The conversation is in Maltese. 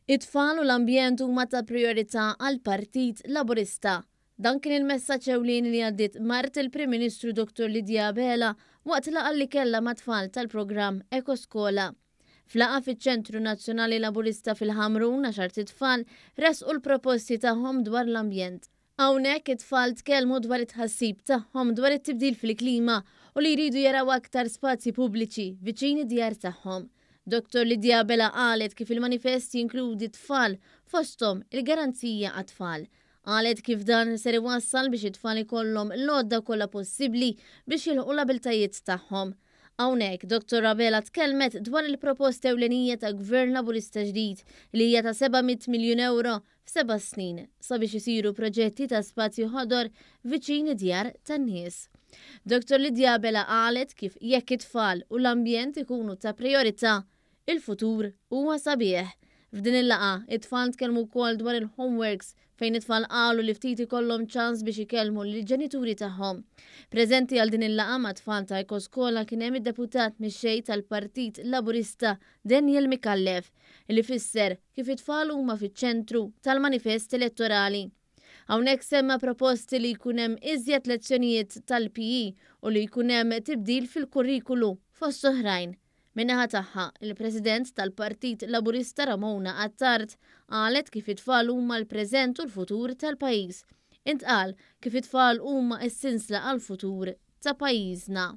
It-tfal u l-ambjent huma ta' prijorità għall-Partit Laburista. Dan kien il-messaġġ ewlieni li għaddiet mart il-Prim Ministru Dottor Lydia Abela waqt laqgħa li kellha mat-tfal tal-programm Ekoskola. F'laqgħa fiċ-Ċentru Nazzjonali Laburista fil-Ħamrun għaxart itfal ressqu l-proposti tagħhom dwar l-ambjent. Hawnhekk it-tfal tkellmu dwar it-tħassib tagħhom dwar it-tibdil fil-klima u li jridu jaraw aktar spazji pubbliċi viċin id-djar tagħhom. Dottor Lydia Abela qalet kif il-manifest jinkludi t-tfal, fosthom il-garanzija għat-tfal. Qalet kif dan ser iwassal biex it-tfal ikollhom l-għodda kollha possibbli biex jilħqu l-abiltajiet tagħhom. Hawnhekk, Dottor Abela tkellmet dwar il-proposta ewlenija ta' Gvern Laburista ġdid li hija ta' 700 miljun ewro f'seba' snin sabiex isiru proġetti ta' spazji ħodor viċin id-djar tan-nies. Dottor Lydia Abela qalet kif jekk it-tfal u l-ambjent ikunu ta' prijorità, il-futur huwa sabiħ. F'din il-laqgħa, it-tfal tkellmu wkoll dwar il-homeworks fejn it-tfal qalu li ftit ikollhom ċans biex ikellmu lill-ġenituri tagħhom. Preżenti għal din il-laqgħa mat-tfal ta' Ekoskola kien hemm id-Deputat Mexxej tal-Partit Laburista Daniel Micallef li fisser kif it-tfal huma fiċ-ċentru tal-manifest elettorali. Hawnhekk semma proposti li jkun hemm iżjed lezzjonijiet tal-PE u li jkun hemm tibdil fil-kurrikulu, fost oħrajn. Min-naħa tagħha, il-President tal-Partit Laburista Ramona Attard qalet kif it-tfal huma l-preżent u l-futur tal-pajjiż. Intqal kif it-tfal huma s-sinsla għall-futur ta' pajjiżna.